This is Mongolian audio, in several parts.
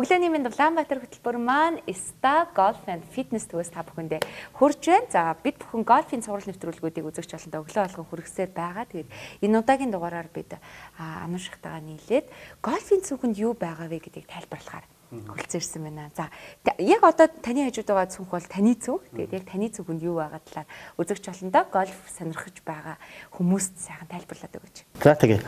Өглөөний минь Улаанбаатар хөтөлбөр маань Sta Golf and Fitness төвөөс та бүхэндээ хүрж байна. За бид бүхэн гольфийн сурал нэвтрүүлгүүдийг үзэж болондоо өглөө болгон хүргэсээр байгаа. Тэгээд энэ удаагийн дугаараар бид ануушигтайгаа нийлээд гольфийн цүнхэнд юу байгаа вэ гэдгийг тайлбарлахаар хөлцөрсөн байна. За яг одоо таны хажууд байгаа цүнх бол таны цүнх. Тэгээд яг таны цүнхэнд юу байгаа талаар үзэж болондоо гольф сонирхож байгаа хүмүүст сайхан тайлбарлаад өгөөч. За тэгээ.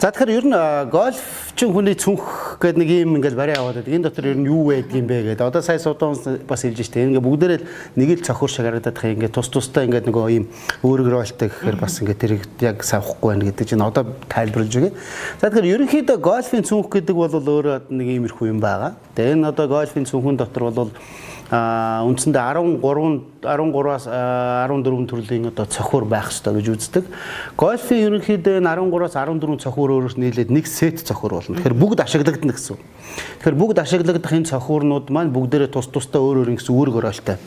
За тэгэхээр ер нь гольфчин хүний цүнх гэдэг нэг юм ингээл барай аваад байдаг. Энэ дотор ер нь юу байдаг юм бэ гэдэг. Одоо сая суудан бас хэлж штэ. Ингээ бүгдээрээ нэг л цохор шиг харагдаад байгаа. Ингээ тус тустай ингээ нөгөө ийм өөрөөр ойлтой гэхээр бас ингээ тэрийг яг савхгүй байна гэдэг чинь одоо тайлбарлаж өгье. За тэгэхээр ерөнхийдөө гольфийн цүнх гэдэг бол өөрөө нэг иймэрхүү юм байгаа. Тэгээ энэ одоо гольфийн цүнхэн дотор бол үндсэндээ 13-аас 14 төрлийн одоо цохор байх ёстой гэж үздэг. Гольфийн ерөнхийдөө 13-аас 14 цохор өөрөөр нийлээд нэг сет цохор болно. Тэгэхээр бүгд ашиглагдана гэсэн. Тэгэхээр бүгд ашиглагдах энэ цохорнууд маань бүгдээрээ тус тустай өөр гэсэн үүрэг оройлтой.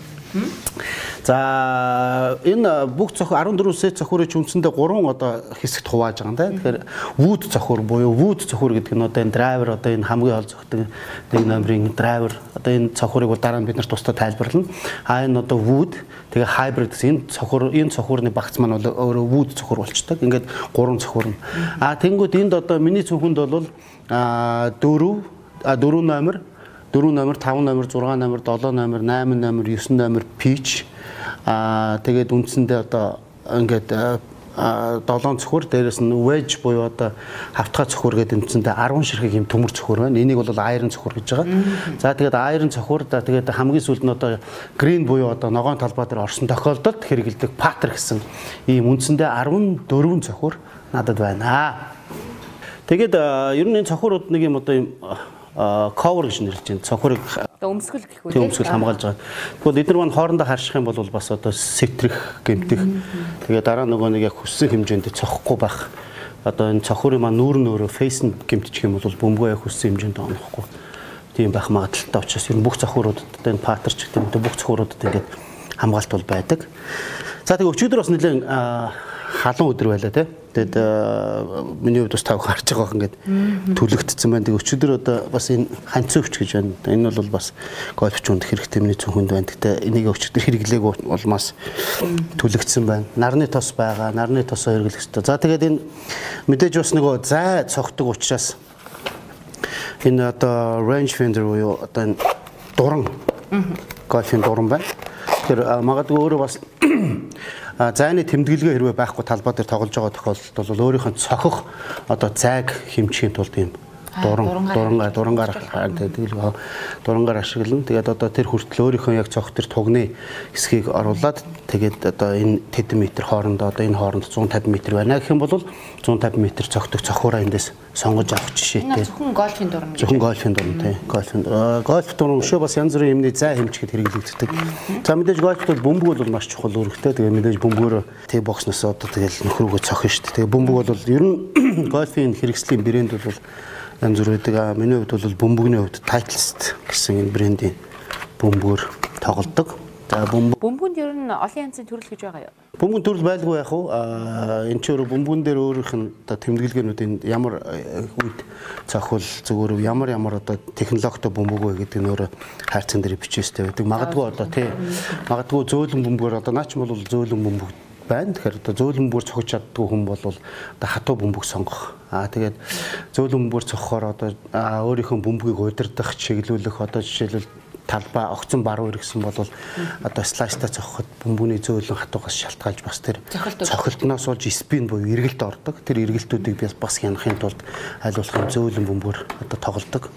За энэ бүх цохор 14 сет цохорыг үндсэндээ 3 одоо хэсэгт хувааж байгаа юм да. Тэгэхээр wood цохор буюу wood цохор гэдэг нь одоо энэ драйвер одоо энэ хамгийн хол зохидог нэг номерын драйвер одоо энэ цохорыг бол дараа нь бид нар тусдаа тайлбарлана. Энэ одоо wood тэгээ hybrid гэсэн энэ цохорны багц маань бол өөрөө wood цохор болчдаг. Ингээд 3 цохор нь. Тэнгүүд энд одоо миний цүнхэнд бол 4 номер 4 номер, 5 номер, 6 номер, 7 номер, 8 номер, 9 номер pitch. Тэгээд үндсэндээ одоо ингээд 7 цохор, дээрээс нь wedge буюу одоо хавтгай цохор гэдэг үндсэндээ 10 ширхэг юм төмөр цохор байна. Энийг бол iron цохор гэж байгаа. За тэгээд iron цохор, тэгээд хамгийн сүүлд нь одоо green буюу одоо ногоон талбай дээр орсон тохиолдолд хэрэгэлдэг putter гэсэн ийм үндсэндээ 14 цохор надад байна. Тэгээд ер нь энэ цохорууд нэг юм одоо юм cover гэж нэрлэж байна. Цохорыг өмсгөл гэх үү? Өмсгөл хамгаалж байгаа. Тэгвэл эдгээр маань хоорондоо харших юм бол бас одоо сэтрэх, гэмтэх. Тэгээ дараа нөгөө нэг яг хүссэн хэмжээнд цохихгүй байх. Одоо энэ цохорын маань нүүр нөөрөө фейс нь гэмтчих юм бол бөмбөгөө яг хүссэн хэмжээнд онохгүй. Тийм байх магадaltaй учраас ер нь бүх цохоруудад энэ паттерч гэдэг бүх цохоруудад ингээд хамгаалт бол байдаг. За тэгээ өчигдөр бас нэлээд халуун өдөр байлаа тий. Тэгээд миний хувьд бас тав харж байгаа ингээд төлөгдсөн байна. Тэгээд өчигдөр одоо бас энэ ханцын өвч гэж байна. Энэ бол бас гольфч үнд хэрэгтэй миний цүнхэнд байна. Гэтэ энийг өчигдөр хэрэглээг улмаас төлөгдсөн байна. Нарны тос байгаа. Нарны тосоо хэрэглэх хэрэгтэй. За тэгээд энэ мэдээж бас нөгөө зай цогтөг учраас энэ одоо range finder буюу одоо энэ дуран гольфийн дуран байна. Тэгэхээр магадгүй өөрөө бас зайны тэмдэглэгээ хэрвээ байхгүй талбай дээр тоглож байгаа тохиолдолд бол өөрийнх нь цохих одоо зайг хэмжихийн тулд юм дурангаар ашиглана. Тэгээд одоо тэр хүртэл өөрийнхөө яг цохих тэр тугны хэсгийг оруулаад тэгээд одоо энэ тэдэн метр хоорондоо одоо энэ хооронд 150 метр байна гэх юм бол 150 метр цогтөг цохиураа эндээс сонгож авах жишээтэй. Зөвхөн гольфийн дуран. Зөвхөн гольфийн дуран тий. Гольф дуран өшөө бас янз бүрийн юмны зай хэмжихэд хэрэглэгддэг. За мэдээж гольфт бол бөмбөг бол маш чухал үүрэгтэй. Тэгээд мэдээж бөмбөгөөр тий боксноос одоо тэгэл нөхрөөгөө цохно шүү дээ. Тэгээд бөмбөг бол ер нь гольфийн хэрэгслийн брэнд бол янз бүр байдаг. Миний хувьд бол бөмбөгний хувьд Titleist гэсэн энэ брендийн бөмбөгөөр тоглодог. За бөмбөгөнд ер нь олон янзын төрөл гэж байгаа юу? Бөмбөгийн төрөл байлгүй яах вэ? Энэ ч өөр бөмбөгөн дээр өөрийнх нь одоо тэмдэглэгээнүүд ямар үед цохол зүгээр ямар одоо технологитой бөмбөг вэ гэдэг нь өөрөө хайрцаг дээр бичээстэй байдаг. Магадгүй одоо тий магадгүй зөөлөн бөмбөгөөр одоо наач бол зөөлөн бөмбөг байна. Тэгэхээр одоо зөөлөн бөмбөөр цохиж чаддгүй хүн бол одоо хатуу бөмбөг сонгох. Тэгээд зөөлөн бөмбөөр цохохоор одоо өөрийнхөө бөмбөгийг удирдах, чиглүүлэх одоо жишээлбэл талбай огцон баруун иргэсэн бол одоо слайстай цохоход бөмбөний зөөлөн хатуугаас шалтгаалж бас тэр цохилтноос болж спин буюу эргэлт ордог. Тэр эргэлтүүдийг бас хянахын тулд айлуулах зөөлөн бөмбөөр одоо тоглодог.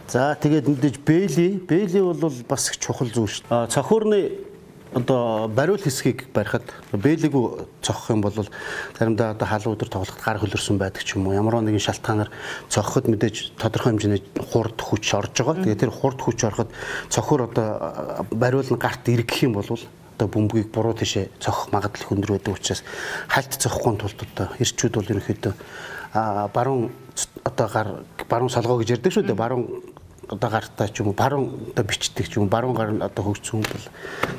За тэгээд мэдээж бэйли бол бас их чухал зүйл шүү дээ. Цохиурны одоо бариул хэсгийг барихад бэлэгүү цохох юм бол заримдаа одоо халуун өдөр тоглоход гар хөлөрсөн байдаг ч юм уу. Ямар нэгэн шалтгаанаар цохоход мэдээж тодорхой хэмжээний хурд хүч орж байгаа. Тэгээд тэр хурд хүч ороход цохор одоо бариул нь гарт эргэх юм бол одоо бөмбөгийг буруу тишээ цохох магадлал өндөр байдаг учраас хальт цохихгүй тулд одоо эрчүүд бол ерөнхийдөө баруун одоо баруун солгоо гэж ярьдаг шүү дээ. Баруун одоо гартаа ч юм уу баруун одоо бичдэг ч юм уу баруун гар нь одоо хөгжсөн бол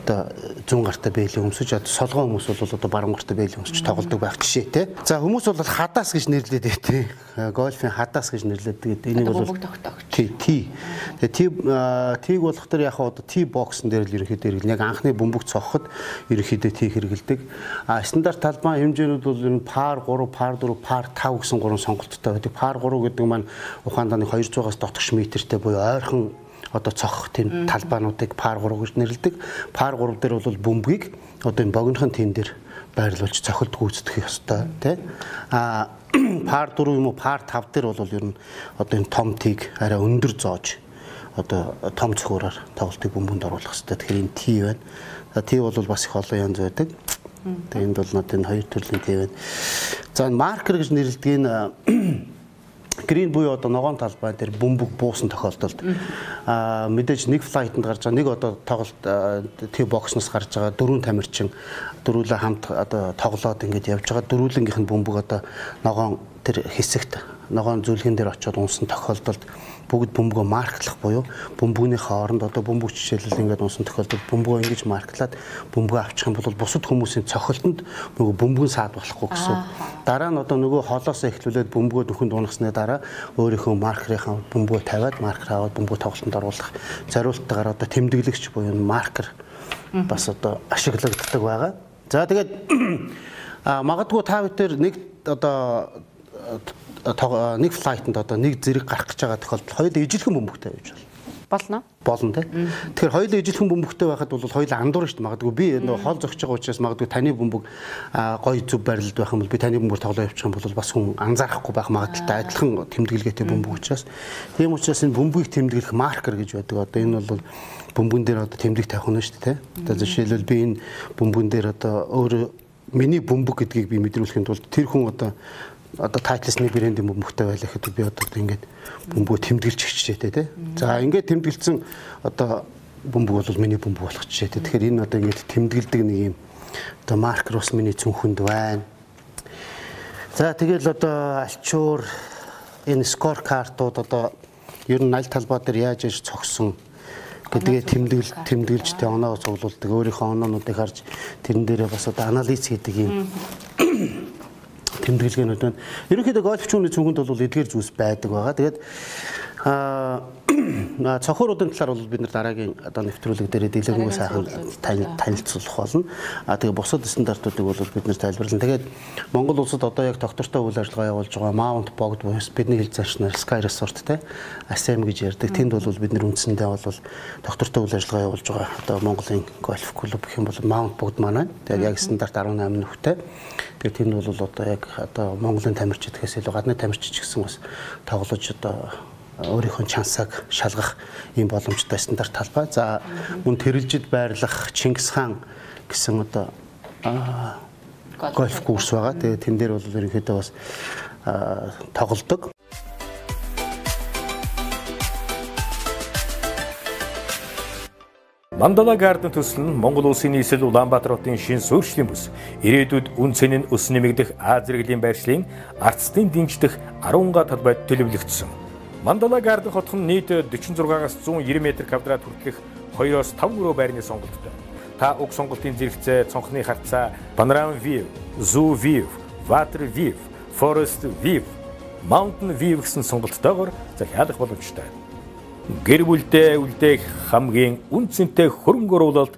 одоо зүүн гартаа бэлээ өмсөж одоо солгоо хүмүүс бол одоо баруун гартаа бэлээ өмсөж тоглодог байх жишээ те. За хүмүүс бол хадаас гэж нэрлэдэг те. Гольфын хадаас гэж нэрлэдэг. Энийг бол тий. Тийг болох төр яг одоо тий боксын дээр л ерөнхийдөө яг анхны бөмбөг цохоход ерөнхийдөө тий хэрэгэлдэг. Стандарт талбай хэмжээнүүд бол ер нь пар 3, пар 4, пар 5 гэсэн 3 сонголттой байдаг. Пар 3 гэдэг маань ухаандааны 200-аас дотогш метртэй буюу ойрхон одоо цохох тийм талбайнуудыг пар 3 гэж нэрлэдэг. Пар 3 дээр бол бөмбөгийг одоо энэ богинохын тэн дээр байрлуулж цохилт гүйцэтгэх ёстой тий. Пар 4 юм уу пар 5 дээр бол ер нь одоо энэ том тийг арай өндөр зоож одоо том цохиураар тоглолтыг бөмбөнд оруулах хэрэгтэй. Тэгэхээр энэ T байна. T бол бас их олон янз байдаг. Тэгээ энд бол надад энэ хоёр төрлийн T байна. За энэ маркер гэж нэрлэдэг энэ грин буюу одоо ногоон талбай дээр бөмбөг буусан тохиолдолд мэдээж нэг флайтанд гарч байгаа нэг одоо тоглолт T боксноос гарч байгаа дөрвөн тамирчин дөрвөлөө хамт одоо тоглоод ингэж явж байгаа дөрвөлөнгийнх нь бөмбөг одоо ногоон тэр хэсэгт ногоон зүлгэн дээр очиод унсан тохиолдолд бүгд бөмбөгөө марклах буюу бөмбөгний хооронд одоо бөмбөг жишээлбэл ингээд унсан тохиолдолд бөмбөгөө ингэж марклаад бөмбөгөө авчих юм бол бусад хүмүүсийн цохилтонд нөгөө бөмбөг саад болохгүй гэсэн. Дараа нь одоо нөгөө холоос эхлүүлээд бөмбөгөө дөхөнд унахсны дараа өөрийнхөө маркерийнхаа бөмбөгөө тавиад маркер аваад бөмбөг тоглолтод оруулах зориулттайгаар одоо тэмдэглэгч буюу маркер бас одоо ашиглагддаг байгаа. За тэгээд магадгүй та бүхэн нэг одоо нэг флайтанд одоо нэг зэрэг гарах гэж байгаа тохиолдолд хоёулаа ижилхэн бөмбөгтэй байж болно. Болно тий. Тэгэхээр хоёулаа ижилхэн бөмбөгтэй байхад бол хоёулаа андуур шүү дээ. Магадгүй би нөгөө хол зогсож байгаа учраас магадгүй таны бөмбөг гоё зүв байрлалд байх юм бол би таны бөмбөг тоглоо явуучих юм бол бас хүн анзаарахгүй байх магадaltaй адилхан тэмдэглэгээтэй бөмбөг учраас тийм учраас энэ бөмбөгийг тэмдэглэх маркер гэж байдаг. Одоо энэ бол бөмбөгөн дээр одоо тэмдэг тавих нь шүү дээ тий. Одоо жишээлбэл би энэ бөмбөгөн дээр одоо өөрөө миний бөмбөг гэдгийг би мэдрүүлэхэд бол тэр хүн одоо тайтлсны брендийн бөмбөгтэй байлаа гэхэд би одоо ингээд бөмбөгөө тэмдэглэж хичээтэй тий. За ингээд тэмдэглэсэн одоо бөмбөг бол миний бөмбөг болох жишээтэй. Тэгэхээр энэ одоо ингээд тэмдэглэдэг нэг юм одоо маркер бас миний цүнхэнд байна. За тэгэл одоо альчуур энэ скор картууд одоо ер нь аль талбай дээр яаж яаж цогсон гэдгээ тэмдэглэж тэ оноо цуглуулдаг. Өөрийнхөө оноонуудыг харж тэрэн дээрээ бас одоо анализ хийдэг юм тэмдэглэгээнүүд байна. Ерөнхийдөө гольфчууны цүнхэнд бол эдгээр зүйлс байдаг байгаа. Тэгээд цохиуруудын талаар бол бид нар дараагийн одоо нэвтрүүлэг дээр дэлгэрэнгүй сайхан танилцуулах болно. Тэгээ бусад стандартуудыг бол бид нар тайлбарлана. Тэгээд Монгол улсад одоо яг доктортой үйл ажиллагаа явуулж байгаа Mount Bogd буюу бидний хэл зарчнаар Sky Resort те ASM гэж ярьдаг. Тэнд бол бид нар үндсэндээ бол доктортой үйл ажиллагаа явуулж байгаа одоо Монголын гольф клуб гэх юм бол Mount Bogd маань. Тэгээд яг стандарт 18 нөхтэй. Тэгээд тэнд бол одоо яг одоо Монголын тамирчид гэхээс илүү гадны тамирчид ч гэсэн бас тоглож одоо өөрийнхөө чансааг шалгах ийм боломжтой стандарт талбай. За мөн тэрэлжид байрлах Чингис хаан гэсэн одоо гольф курс байгаа. Тэгээ тэн дээр бол ерөнхийдөө бас тоглодог. Мандала Гарден төсөл нь Монгол улсын нийслэл Улаанбаатар хотын шин суурьшлийн бүс, ирээдүйд үн цэнийн өс нэмэгдэх Аз зэрэглэлийн байршлын арцтын дэмждэх 10 га талбайд төлөвлөгдсөн. Мандала Гарден хотхон нийт 46-аас 190 м2 хүртэлх 2-5 өрөө байрны сонголттой. Та уг сонголтын зэрэгцээ цонхны хартцаа Panorama View, Zoo View, Water View, Forest View, Mountain View гэсэн сонголттойгоор захиалах боломжтой. Гэр бүлдээ үлдээх хамгийн үнцэнтэй хөрөнгө оруулалт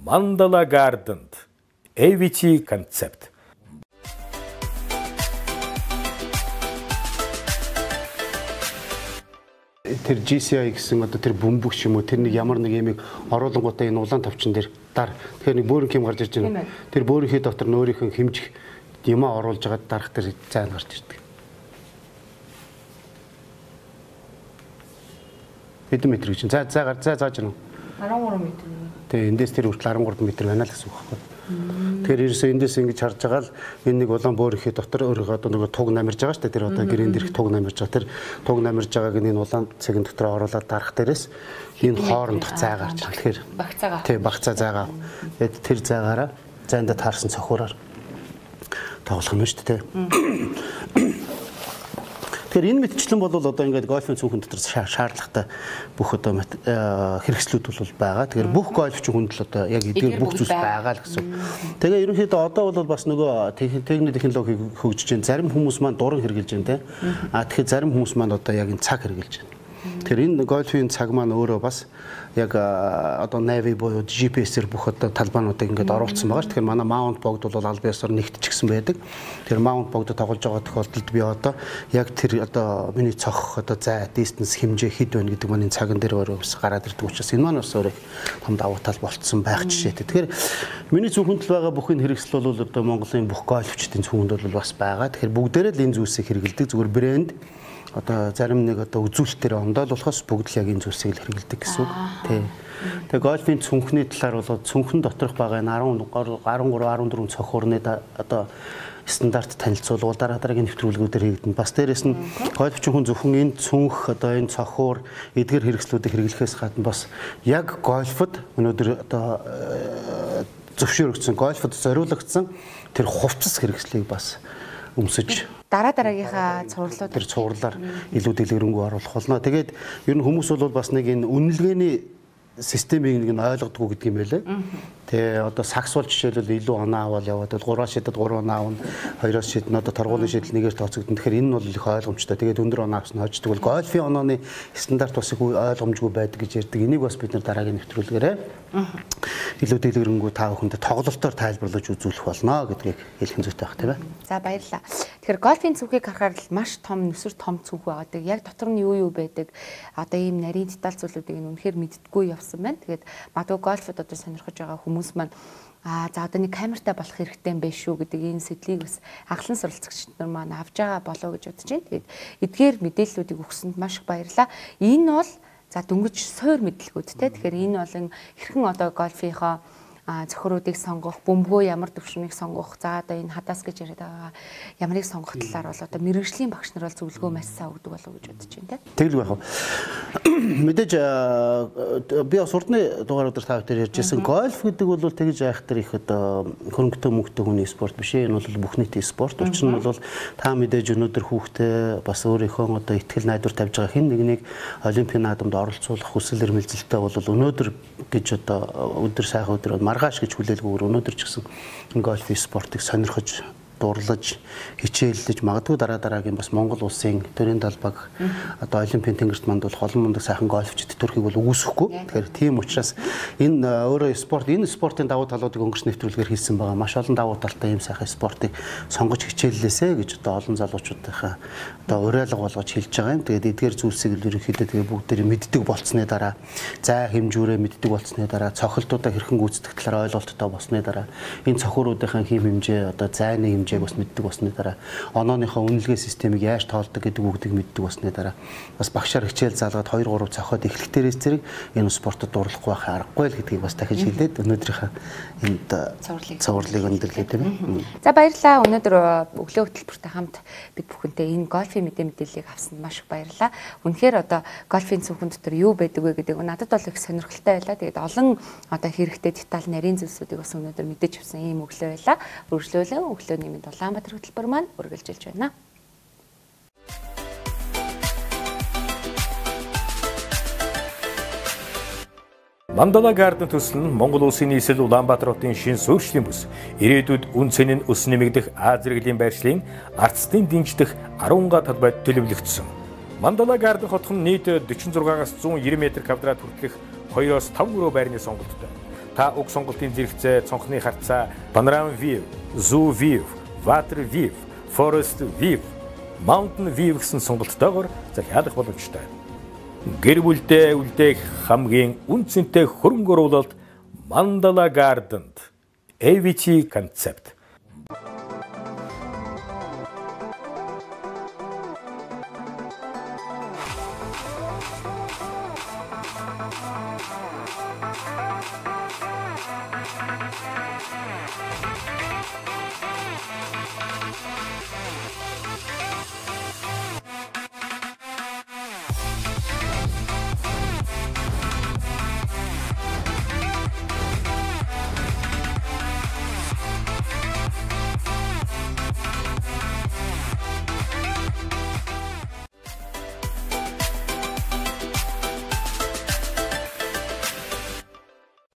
Мандала Гарденд AVT концепт. Тэр GCI гэсэн одоо тэр бөмбөг ч юм уу тэр нэг ямар нэг ямиг оруулангуудаа энэ улаан тавчин дээр дар. Тэгэхээр нэг бөөрийн хэм гарч ирж байна. Тэр бөөрийнхээ дотор нөөрийнхөө хэмжих юмаа оруулж байгаа дарах тэр зайн гарч ирдэг. Хэдэн метр гэж. За зааж гэнэ. 13 м. Тэгээ эндээс тэр хүртэл 13 м байна л гэсэн үг байхгүй. Тэгэхээр ерөөсөө эндээс ингэж харж байгаа л энэ нэг улаан бөөрийнхээ дотор өөрөө одоо нэг туг намирж байгаа шүү дээ. Тэр одоо гэрэн дээрх туг намирж байгаа. Тэр туг намирж байгааг энэ улаан цагийн дотор оруулаад дарах дээрээс энэ хоорондох зай гарч байгаа. Тэгэхээр багцаагаа. Тий, багцаа зайгаа. Тэгээд тэр зайгаараа зайнда таарсан цохиураар тоглох юм шүү дээ. Тэгэхээр энэ мэтчлэн бол одоо ингээд гольфын цүнхэн дотор шаардлагатай бүх одоо хэрэгслүүд бол байгаа. Тэгэхээр бүх гольфчин хүнд л одоо яг эдгээр бүх зүйлс байгаа л гэсэн. Тэгээ ерөнхийдөө одоо бол бас нөгөө техник технологиг хөгжиж байна. Зарим хүмүүс маань дуран хэрэгжилж байна те. Тэгэхээр зарим хүмүүс маань одоо яг энэ цаг хэрэгжилж байна. Тэгэхээр энэ гольфын цаг маань өөрөө бас яг одоо Navy буюу GPS-ээр бүх одоо талбайнуудыг ингээд оруулсан байгаа ш. Тэгэхээр манай маунт богд бол аль биесээр нэгтчихсэн байдаг. Тэр маунт богд тоглож байгаа тохиолдолд би одоо яг тэр одоо миний цохох одоо зай distance хэмжээ хэд байна гэдэг маань цаган дээр өөрөө бас гараад ирдэг учраас энэ маань бас өөрөө том давуу тал болцсон байх жишээтэй. Тэгэхээр миний зөвхөнд л байгаа бүх энэ хэрэгсэл бол одоо Монголын бүх гольфчдын зөвхөнд бол бас байгаа. Тэгэхээр бүгдээрээ л энэ зүйлсийг хэрэгэлдэг. Зүгээр брэнд одоо зарим нэг одоо үзүүлэлтээр ондоод болохоос бүгд л яг энэ зүйлсийг л хэрэгэлдэг гэсэн үг. Тий. Тэгээ гольфын цүнхний талаар бол цүнхэн доторх байгаа энэ 13 14 цохиурны одоо стандарт танилцуулгууд дараагийн нэвтрүүлгүүдээр хийгдэнэ. Бас дээрэс нь гольфчин хүн зөвхөн энэ цүнх одоо энэ цохиур эдгээр хэрэгслүүдийг хэрэглэхээс гадна бас яг гольфод өнөөдөр одоо зөвшөөрөгдсөн гольфод зориулагдсан тэр хувцас хэрэгслийг бас өмсөж дараагийнхаа цувралууд тэр цувралаар илүү дэлгэрэнгүй оруулах болно. Тэгээд ер нь хүмүүс бол бас нэг энэ үнэлгээний системийг нэг нь ойлгодгоо гэдэг юм байлээ. Тэгээ одоо сакс бол жишээлбэл илүү оноо аваад яваад 3-аас шидэд 3 оноо авна, 2-оос шиднэ одоо торгуулийн шидэл нэгээр тооцогдно. Тэгэхээр энэ бол их ойлгомжтой. Тэгээд өндөр оноо авсан хождог бол гольфын онооны стандарт бас их ойлгомжгүй байдаг гэж ярьдаг. Энийг бас бид нар дараагийн нэвтрүүлгээрээ илүү дэлгэрэнгүй та бүхэнд тоглолтоор тайлбарлаж үзүүлэх болно гэдгийг хэлэх зүйтэй байх тийм ээ. За баярлалаа. Тэгэхээр гольфын цүнхийг харахаар л маш том нүсэр том цүнх байдаг. Яг дотор нь юу байдаг? Одоо ийм нарийн деталь зүйлүүдийг нь үнэхээр мэддэггүй явсан байна. Тэгээд магадгүй гольфод одоо сонирхож байгаа хүмүүс маань за одоо нэг камертай болох хэрэгтэй юм биш үү гэдэг энэ сэтлийг бас анхлан суралцагчид нар маань авж байгаа болоо гэж бодож байна. Тэгээд эдгээр мэдээллүүдийг өгсөнд маш их баярлалаа. Энэ бол за дөнгөж суур мэдлэгүүдтэй. Тэгэхээр энэ бол хэрхэн одоо гольфийнхоо зохиоруудыг сонгох, бөмбөгөө ямар төвшмийг сонгох, за одоо энэ хадаас гэж яриад байгаа ямарыг сонгох талаар бол одоо мэргэжлийн багш нар бол зөвлөгөө маш сайн өгдөг болов уу гэж бодож байна тийм. Тэглэг байх. Мэдээж би бас урдны дугааруудаар та бүхэн ярьжсэн гольф гэдэг бол тэгж айхтар их одоо хөрөнгөтэй мөнгөтэй хүний спорт биш ээ. Энэ бол бүх нийтийн спорт. Учир нь бол та мэдээж өнөөдөр хүүхдээ бас өөрийнхөө одоо ихтгэл найдвар тавьж байгаа хэн нэгнийг олимпийн наадамд оролцуулах хүсэл эрмэлзэлтэй бол өнөөдөр гэж одоо өдөр сайхан өдөр маргааш гэж хүлээлгүүгээр өнөөдөр ч гэсэн гольф спортыг сонирхож дурлаж хичээллэж магадгүй дараагийн бас Монгол улсын төрийн талбайг одоо олимпийн тэнгэрт манд бол холон мундаг сайхан гольфчд төрхийг бол үүсэхгүй. Тэгэхээр тийм учраас энэ өөрөө энэ спортын давуу талуудыг өнгөрсөн нэвтрүүлгээр хэлсэн байгаа. Маш олон давуу талтай ийм сайхан спортыг сонгож хичээллээсэ гэж одоо олон залуучуудынхаа одоо уриалга болгож хэлж байгаа юм. Тэгээд эдгээр зүйлсийг ерөнхийдөө тэгээ бүгдээр мэддэг болцсны дараа зай хэмжүүрээ мэддэг болцсны дараа цохилтуудаа хэрхэн гүйцэтгэх талаар ойлголттой болсны дараа энэ цохиуруудынхаа хэм хэмжээ одоо зайны бас мэддэг болсны дараа онооныхоо үнэлгээ системийг яаж тоолдог гэдэг бүгдийг мэддэг болсны дараа бас багшаар хичээл заалгаад 2-3 цохоод эхлэх дээрээс зэрэг энэ спортод дурлахгүй байх аргагүй л гэдгийг бас дахиж хэлээд өнөөдрийнхээ энд цувралыг өндөрлөө тийм ээ. За баярлалаа. Өнөөдөр өглөө хөтөлбөртэй хамт бид бүхэнтэй энэ гольфын мэдээллийг авсанд маш их баярлалаа. Үнэхээр одоо гольфын цүнхэн дотор юу байдаг вэ гэдэг надад бол их сонирхолтой байлаа. Тэгээд олон одоо хэрэгтэй деталь нарийн зүйлсүүдийг бас өнөөдөр мэдэж авсан ийм өглөө байлаа. Үргэлжлүүлэн өглөөний мэнд Улаанбаатар хөтөлбөр маань үргэлжилж байна. Мандала гарден төсөл нь Монгол улсын нийслэл Улаанбаатар хотын шин суурьшлийн бүс. Ирээдүйд үн цэнийн өс нэмэгдэх Аз зэрэглэлийн байршлын арцтын дэмждэх 10 га талбайд төлөвлөгдсөн. Мандала гарден хотхон нийт 46-аас 190 м2 хүртэлх 2-оос 5 өрөө байрны сонголттой. Та уг сонголтын зэрэгцээ, цонхны харцаа, Panorama View, Zoo View, Water View, Forest View, Mountain View гэсэн сонголттойгоор захиалах боломжтой. Гэр бүлдээ үлдээх хамгийн үнцэнтэй хөрөнгө оруулалт Мандала Гарденд AVT концепт.